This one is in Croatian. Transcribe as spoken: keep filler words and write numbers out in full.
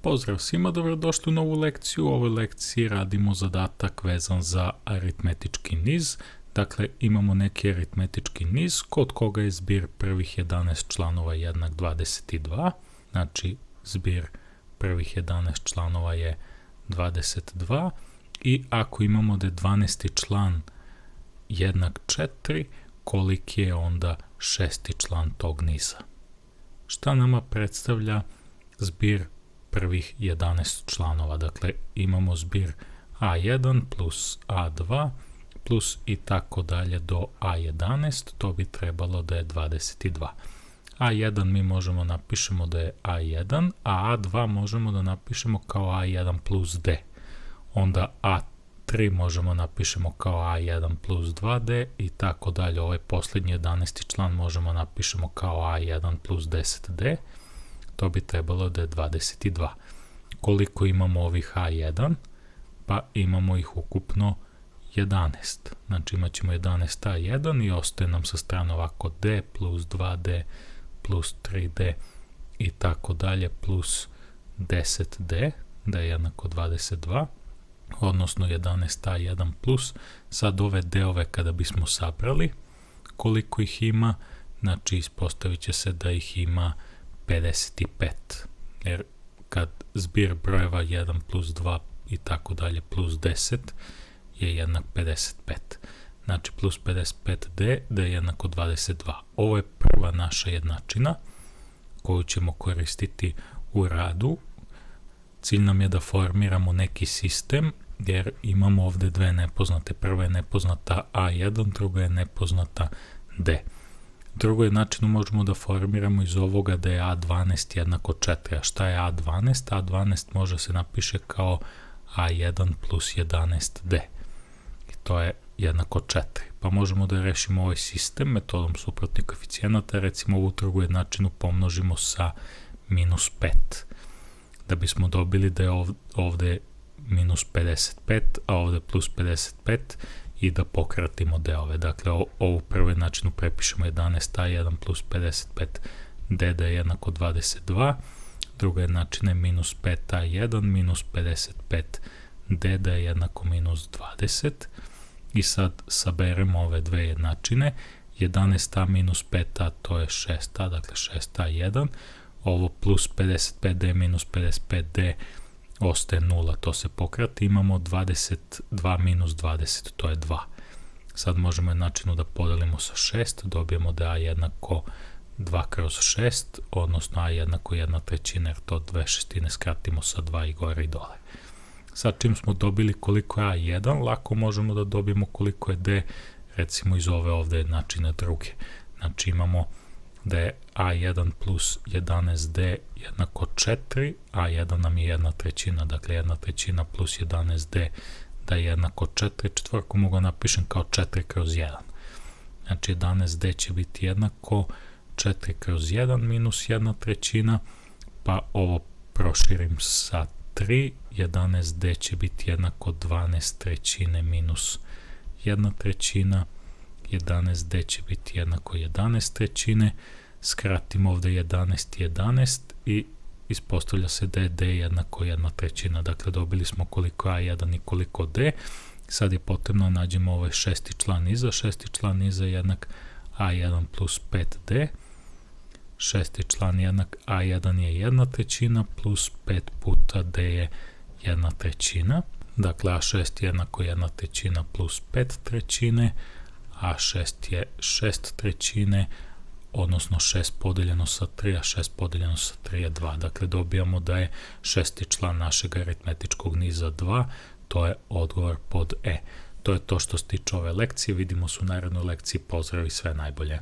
Pozdrav svima, dobrodošli u novu lekciju. U ovoj lekciji radimo zadatak vezan za aritmetički niz. Dakle, imamo neki aritmetički niz kod koga je zbir prvih jedanaest članova jednak dvadeset dva. Znači, zbir prvih jedanaest članova je dvadeset dva i ako imamo da je dvanaesti član jednak četiri, koliki je onda šesti član tog niza? Šta nama predstavlja zbir prvih jedanaest članova? Dakle, imamo zbir a jedan plus a dva plus i tako dalje do a jedanaest, to bi trebalo da je dvadeset dva. a jedan mi možemo napišemo da je a jedan, a a dva možemo da napišemo kao a jedan plus d. Onda a tri možemo napišemo kao a jedan plus dva d i tako dalje. Ovaj posljednji jedanaesti član možemo napišemo kao a jedan plus deset d. To bi trebalo da je dvadeset dva. Koliko imamo ovih a jedan? Pa imamo ih ukupno jedanaest. Znači imat ćemo jedanaest a jedan i ostaje nam sa strane ovako d plus dva d plus tri d i tako dalje plus deset d, da je jednako dvadeset dva, odnosno jedanaest a jedan plus. Sad ove d-ove kada bismo sabrali, koliko ih ima? Znači ispostavit će se da ih ima pedeset pet, jer kad zbir brojeva jedan plus dva i tako dalje plus deset je jednak pedeset pet. Znači plus pedeset pet d da je jednako dvadeset dva. Ovo je prva naša jednačina koju ćemo koristiti u radu. Cilj nam je da formiramo neki sistem jer imamo ovdje dve nepoznate. Prva je nepoznata a jedan, druga je nepoznata d. Drugo jednačinu možemo da formiramo iz ovoga da je a dvanaest jednako četiri. A šta je a dvanaest? a dvanaest može se napiše kao a jedan plus jedanaest d. I to je jednako četiri. Pa možemo da rešimo ovaj sistem metodom suprotnih koeficijenata. Recimo ovu drugu jednačinu pomnožimo sa minus pet. Da bismo dobili da je ovdje minus pedeset pet, a ovdje plus pedeset pet i da pokratimo d-ove. Dakle, ovu prvu jednačinu prepišemo jedanaest a jedan plus pedeset pet d da je jednako dvadeset dva. Druga jednačina je minus pet a jedan minus pedeset pet d da je jednako minus dvadeset. I sad saberemo ove dve jednačine. jedanaest a minus pet a to je šest a, dakle šest a jedan. Ovo plus pedeset pet d minus pedeset pet d ostaje nula, to se pokrati. Imamo dvadeset dva minus dvadeset, to je dva. Sad možemo jednačinu da podelimo sa šest, dobijemo da je a jednako dva kroz šest, odnosno a jednako jedna trećina, jer to dve šestine skratimo sa dva i gore i dole. Sad čim smo dobili koliko je a jedan, lako možemo da dobijemo koliko je d, recimo iz ove ovdje jednačine druge. Znači imamo da je a jedan plus jedanaest d jednako četiri, a jedan nam je jedna trećina, dakle jedna trećina plus jedanaest d da je jednako četiri, četvorku mogu napišem kao četiri kroz jedan. Znači jedanaest d će biti jednako četiri kroz jedan minus jedna trećina, pa ovo proširim sa tri, jedanaest d će biti jednako dvanaest trećine minus jedna trećina, jedanaest d će biti jednako jedanaest trećine, skratimo ovdje jedanaest jedanaest i ispostavlja se da je d jednako jedna trećina. Dakle, dobili smo koliko a jedan i koliko d. Sad je potrebno da nađemo ovaj šesti član niza. Šesti član niza je jednak a jedan plus pet d. Šesti član jednak a jedan je jedna trećina plus pet puta d je jedna trećina. Dakle, a šest je jednako jedna trećina plus pet trećine. a šest je šest trećine, odnosno šest podeljeno sa tri, a šest podeljeno sa tri je dva. Dakle, dobijamo da je šesti član našeg aritmetičkog niza dva, to je odgovor pod E. To je to što se tiče ove lekcije, vidimo se u narednoj lekciji, pozdrav i sve najbolje.